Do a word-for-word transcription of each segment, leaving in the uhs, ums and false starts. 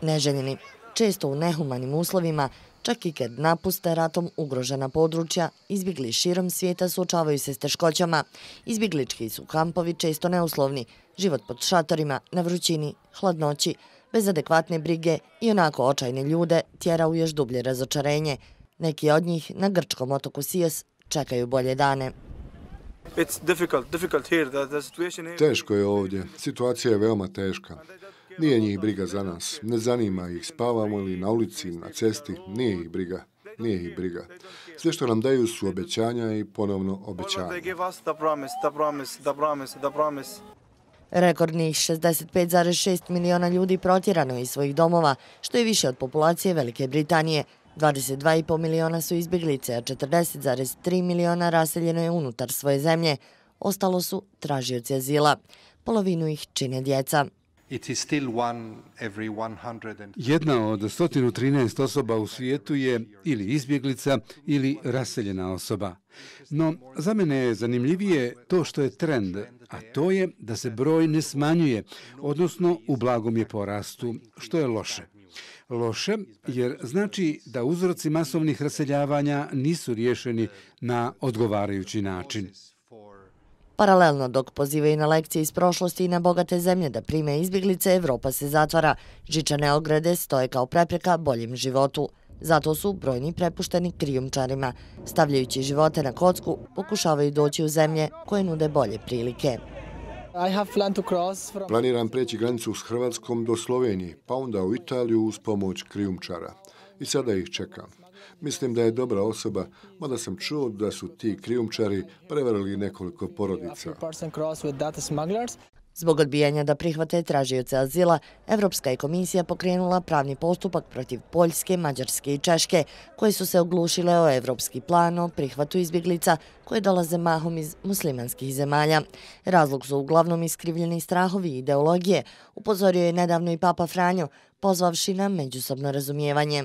Neželjeni, često u nehumanim uslovima, čak i kad napuste ratom ugrožena područja, izbjegli širom svijeta suočavaju se s teškoćama. Izbjeglički su kampovi često neuslovni, život pod šatorima, na vrućini, hladnoći, bez adekvatne brige i onako očajne ljude tjera u još dublje razočarenje. Neki od njih na grčkom otoku Sios čekaju bolje dane. Teško je ovdje. Situacija je veoma teška. Nije njih briga za nas. Ne zanima ih spavamo li na ulici, na cesti. Nije ih briga. Nije ih briga. Sve što nam daju su obećanja i ponovno obećanja. Rekordnih šezdeset pet zarez šest miliona ljudi protjerano je iz svojih domova, što je više od populacije Velike Britanije. dvadeset dva i po miliona su izbjeglice, a četrdeset zarez tri miliona raseljeno je unutar svoje zemlje. Ostalo su tražioci azila. Polovinu ih čine djeca. Jedna od sto trinaest osoba u svijetu je ili izbjeglica ili raseljena osoba. No, za mene je zanimljivije to što je trend, a to je da se broj ne smanjuje, odnosno u blagom je porastu, što je loše. Loše jer znači da uzroci masovnih raseljavanja nisu riješeni na odgovarajući način. Paralelno dok pozivaju na lekcije iz prošlosti i na bogate zemlje da prime izbjeglice, Evropa se zatvara. Žičane ograde stoje kao prepreka boljem životu. Zato su brojni prepušteni krijumčarima. Stavljajući živote na kocku, pokušavaju doći u zemlje koje nude bolje prilike. Planiram preći granicu s Hrvatskom do Slovenije, pa onda u Italiju uz pomoć krijumčara. I sada ih čekam. Mislim da je dobra osoba, mada sam čuo da su ti krijumčari prevarili nekoliko porodica. Zbog odbijanja da prihvate tražioce azila, Evropska je komisija pokrenula pravni postupak protiv Poljske, Mađarske i Češke, koje su se oglušile o evropski plan o prihvatu izbjeglica koje dolaze mahom iz muslimanskih zemalja. Razlog su uglavnom iskrivljeni strahovi i ideologije, upozorio je nedavno i Papa Franjo, pozvavši na međusobno razumijevanje.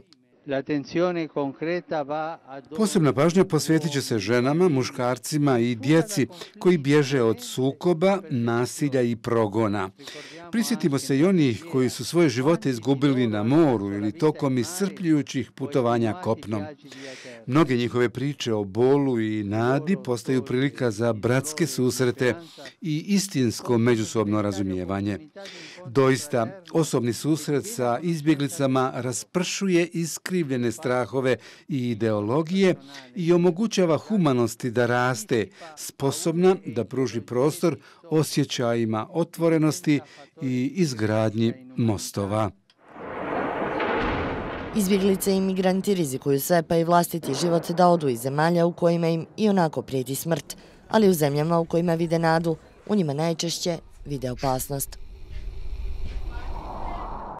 Posebna pažnja posvetit će se ženama, muškarcima i djeci koji bježe od sukoba, nasilja i progona. Prisjetimo se i onih koji su svoje živote izgubili na moru ili tokom iscrpljujućih putovanja kopnom. Mnoge njihove priče o bolu i nadi postaju prilika za bratske susrete i istinsko međusobno razumijevanje. Doista, osobni susret sa izbjeglicama raspršuje iskrivljene strahove i ideologije i omogućava humanosti da raste, sposobna da pruži prostor osjećajima otvorenosti i izgradnji mostova. Izbjeglice i migranti rizikuju sve pa i vlastiti život da odu iz zemalja u kojima im i onako prijeti smrt, ali u zemljama u kojima vide nadu, u njima najčešće vide opasnost.